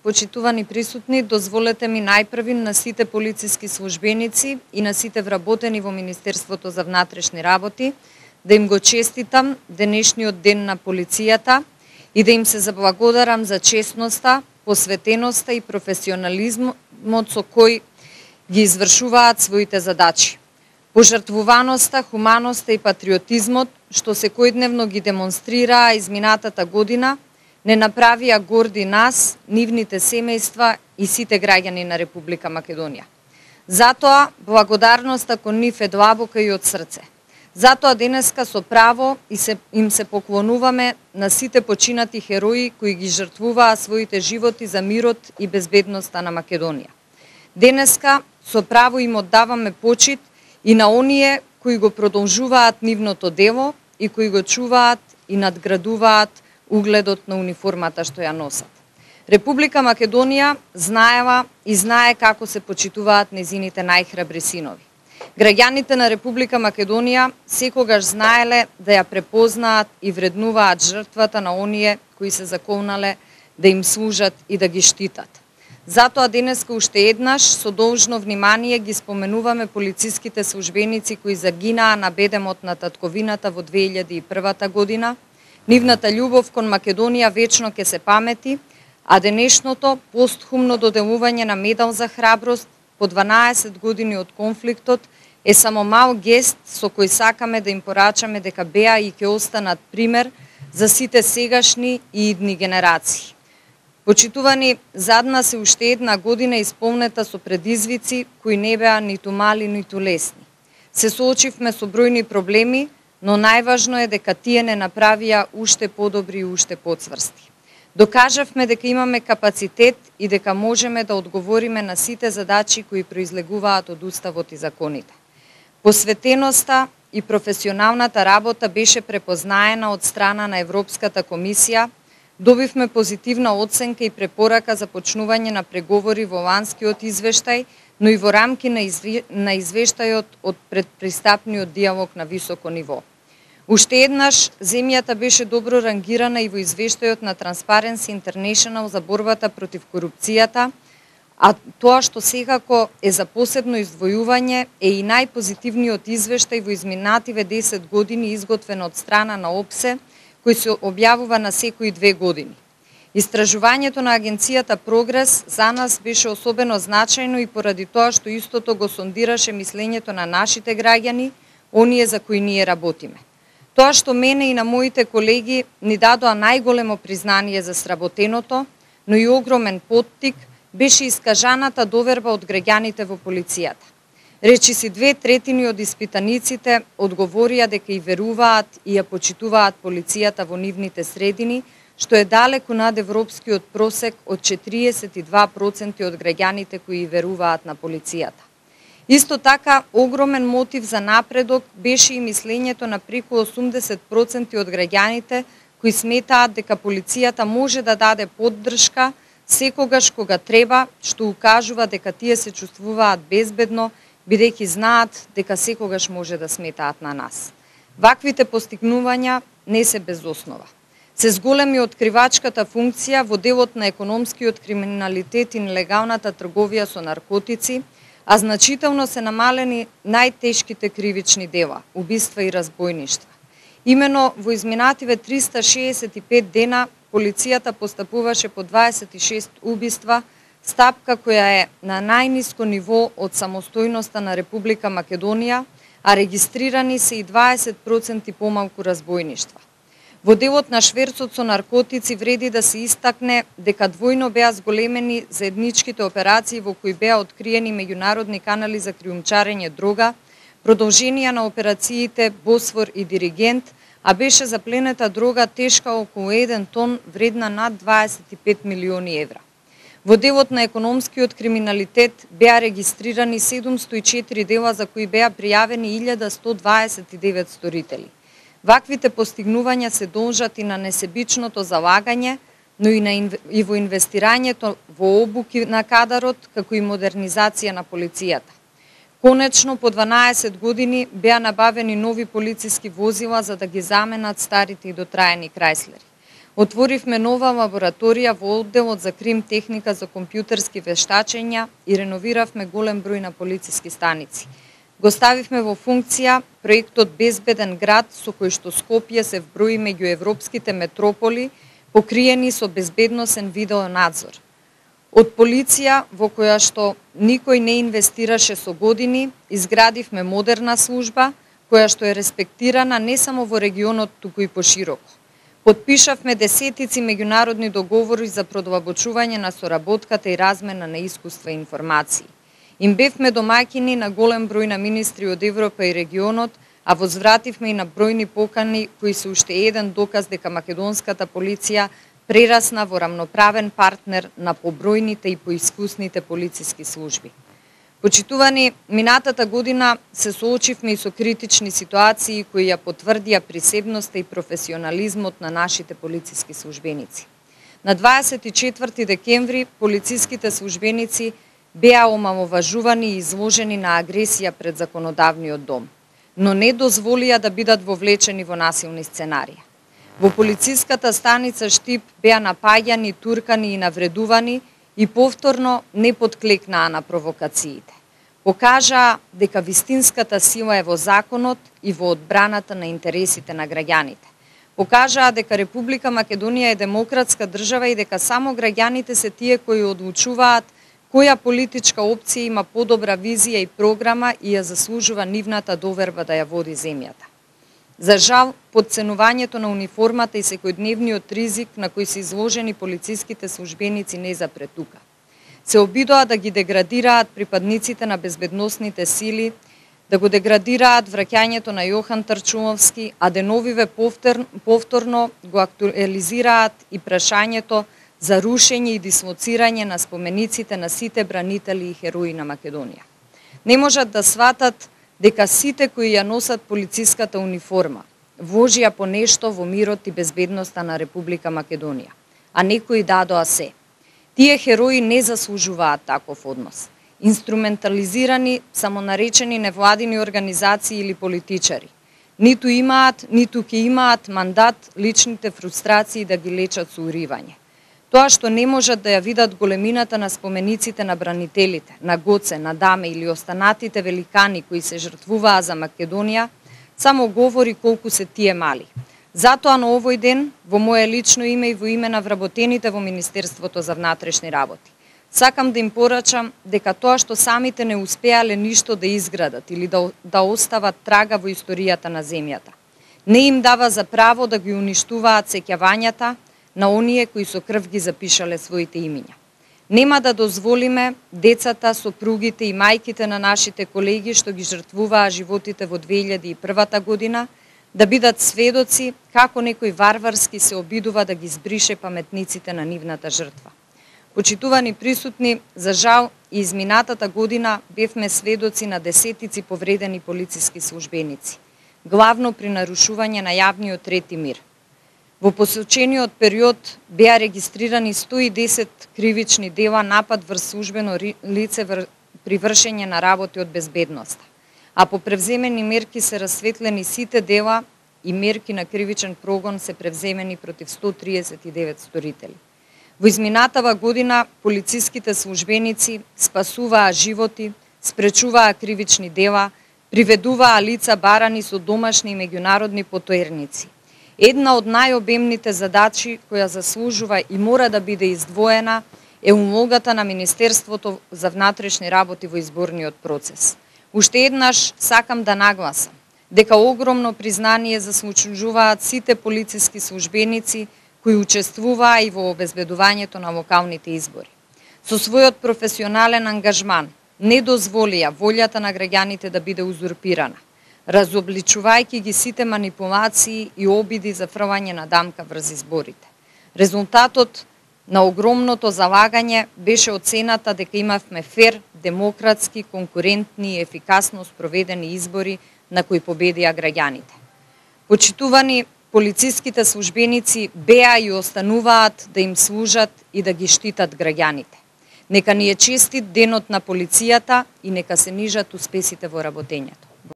почитувани присутни, дозволете ми најпрви на сите полициски службеници и на сите вработени во Министерството за внатрешни работи да им го честитам денешниот ден на полицијата и да им се заблагодарам за честноста, посветеноста и професионализмот со кој ги извршуваат своите задачи. Пожртвуваноста, хуманоста и патриотизмот, што секојдневно ги демонстрираа изминатата година, не направија горди нас, нивните семејства и сите граѓани на Република Македонија. Затоа, благодарноста кон нив е длабока и од срце. Затоа денеска со право им се поклонуваме на сите починати херои кои ги жртвуваа своите животи за мирот и безбедноста на Македонија. Денеска со право им оддаваме почит и на оние кои го продолжуваат нивното дело и кои го чуваат и надградуваат угледот на униформата што ја носат. Република Македонија знаела и знае како се почитуваат незините најхрабри синови. Граѓаните на Република Македонија секогаш знаеле да ја препознаат и вреднуваат жртвата на оние кои се заколнале да им служат и да ги штитат. Затоа денеска уште еднаш со должно внимание ги споменуваме полициските службеници кои загинаа на бедемот на татковината во 2001 година. Нивната љубов кон Македонија вечно ќе се памети, а денешното постхумно доделување на медал за храброст по 12 години од конфликтот е само мал гест со кој сакаме да им порачаме дека беа и ќе останат пример за сите сегашни и идни генерации. Почитувани, зад нас е уште една година исполнета со предизвици кои не беа ниту мали, ниту лесни. Се соочивме со бројни проблеми, но најважно е дека тие не направија уште подобри и уште поцврсти. Докажавме дека имаме капацитет и дека можеме да одговориме на сите задачи кои произлегуваат од Уставот и законите. Посветеноста и професионалната работа беше препознаена од страна на Европската комисија. Добивме позитивна оценка и препорака за почнување на преговори во ланскиот извештај, но и во рамки на извештајот од предпристапниот диалог на високо ниво. Уште еднаш, земјата беше добро рангирана и во извештајот на Transparency International за борбата против корупцијата, а тоа што секако е за посебно издвојување е и најпозитивниот извештај во изминативе 10 години изготвен од страна на ОПСЕ, кој се објавува на секои 2 години. Истражувањето на агенцијата Прогрес за нас беше особено значајно и поради тоа што истото го сондираше мислењето на нашите граѓани, оние за кои ние работиме. Тоа што мене и на моите колеги ни дадоа најголемо признание за сработеното, но и огромен поттик, беше искажаната доверба од граѓаните во полицијата. Речиси 2/3 од испитаниците одговорија дека и веруваат и ја почитуваат полицијата во нивните средини, што е далеку над европскиот просек од 42% од граѓаните кои веруваат на полицијата. Исто така, огромен мотив за напредок беше и мислењето на преку 80% од граѓаните кои сметаат дека полицијата може да даде поддршка секогаш кога треба, што укажува дека тие се чувствуваат безбедно, бидејќи знаат дека секогаш може да сметаат на нас. Ваквите постигнувања не се без основа. Се зголеми откривачката функција во делот на економскиот криминалитет и нелегалната трговија со наркотици, а значително се намалени најтешките кривични дела, убиства и разбојништва. Имено во изминативе 365 дена полицијата постапуваше по 26 убиства, стапка која е на најниско ниво од самостојноста на Република Македонија, а регистрирани се и 20% помалку разбојништва. Во делот на шверцот со наркотици вреди да се истакне дека двојно беа зголемени заедничките операции во кои беа откриени меѓународни канали за криумчарење дрога, продолженија на операциите Босфор и Диригент, а беше запленета дрога тешка околу 1 тон, вредна над 25 милиони евра. Во делот на економскиот криминалитет беа регистрирани 704 дела за кои беа пријавени 1129 сторители. Ваквите постигнувања се должат и на несебичното залагање, но и во инвестирањето во обуки на кадарот, како и модернизација на полицијата. Конечно, по 12 години беа набавени нови полициски возила за да ги заменат старите и дотраени Крајслери. Отворивме нова лабораторија во одделот за крим техника за компјутерски вештачења и реновиравме голем број на полициски станици. Го ставивме во функција проектот Безбеден град, со кој што Скопје се вброи меѓу европските метрополи покриени со безбедносен видеонадзор. Од полиција, во која што никој не инвестираше со години, изградивме модерна служба, која што е респектирана не само во регионот, туку и пошироко. Потпишавме десетици меѓународни договори за продлабочување на соработката и размена на искуства и информации. Им бевме домаќини на голем број на министри од Европа и регионот, а возвративме и на бројни покани кои се уште еден доказ дека македонската полиција прерасна во рамноправен партнер на побројните и поискусните полициски служби. Почитувани, минатата година се соочивме и со критични ситуации кои ја потврдија присебноста и професионализмот на нашите полициски службеници. На 24 декември полициските службеници беа омаловажувани и изложени на агресија пред законодавниот дом, но не дозволија да бидат вовлечени во насилни сценарии. Во полициската станица Штип беа напаѓани, туркани и навредувани и повторно не подклекнаа на провокациите. Покажаа дека вистинската сила е во законот и во одбраната на интересите на граѓаните. Покажаа дека Република Македонија е демократска држава и дека само граѓаните се тие кои одлучуваат која политичка опција има подобра визија и програма и ја заслужува нивната доверба да ја води земјата. За жал, подценувањето на униформата и секојдневниот ризик на кој се изложени полициските службеници не запре тука. Се обидоа да ги деградираат припадниците на безбедносните сили, да го деградираат враќањето на Јохан Трчуловски, а деновиве повторно го актуализираат и прашањето за рушење и дислоцирање на спомениците на сите бранители и херои на Македонија. Не можат да сватат дека сите кои ја носат полициската униформа вложија по нешто во мирот и безбедноста на Република Македонија, а некои дадоа се. Тие херои не заслужуваат таков однос. Инструментализирани, самонаречени невладини организации или политичари. Ниту имаат, ниту ќе имаат мандат личните фрустрации да ги лечат со уривање. Тоа што не можат да ја видат големината на спомениците на бранителите, на Гоце, на Даме или останатите великани кои се жртвуваа за Македонија, само говори колку се тие мали. Затоа на овој ден, во моje лично име и во име на вработените во Министерството за внатрешни работи, сакам да им порачам дека тоа што самите не успеале ништо да изградат или да остават трага во историјата на земјата, не им дава за право да ги уништуваат сеќавањата на оние кои со крв ги запишале своите имиња. Нема да дозволиме децата, сопругите и мајките на нашите колеги што ги жртвуваа животите во 2001 година да бидат сведоци како некој варварски се обидува да ги збрише паметниците на нивната жртва. Почитувани присутни, за жал и изминатата година бевме сведоци на десетици повредени полициски службеници, главно при нарушување на јавниот ред и мир. Во посочениот период беа регистрирани 110 кривични дела напад врз службено лице при вршење на работи од безбедноста, а по превземени мерки се расветлени сите дела и мерки на кривичен прогон се превземени против 139 сторители. Во изминатава година полициските службеници спасуваа животи, спречуваа кривични дела, приведуваа лица барани со домашни и меѓународни потоерници. Една од најобемните задачи која заслужува и мора да биде издвоена е улогата на Министерството за внатрешни работи во изборниот процес. Уште еднаш сакам да нагласам дека огромно признание заслужуваат сите полициски службеници кои учествуваа и во обезбедувањето на локалните избори. Со својот професионален ангажман не дозволија волјата на граѓаните да биде узурпирана, разобличувајќи ги сите манипулации и обиди за фрлање на дамка врз изборите. Резултатот на огромното залагање беше оцената дека имавме фер, демократски, конкурентни и ефикасно спроведени избори на кои победија граѓаните. Почитувани, полициските службеници беа и остануваат да им служат и да ги штитат граѓаните. Нека ни е честит денот на полицијата и нека се нижат успесите во работењето.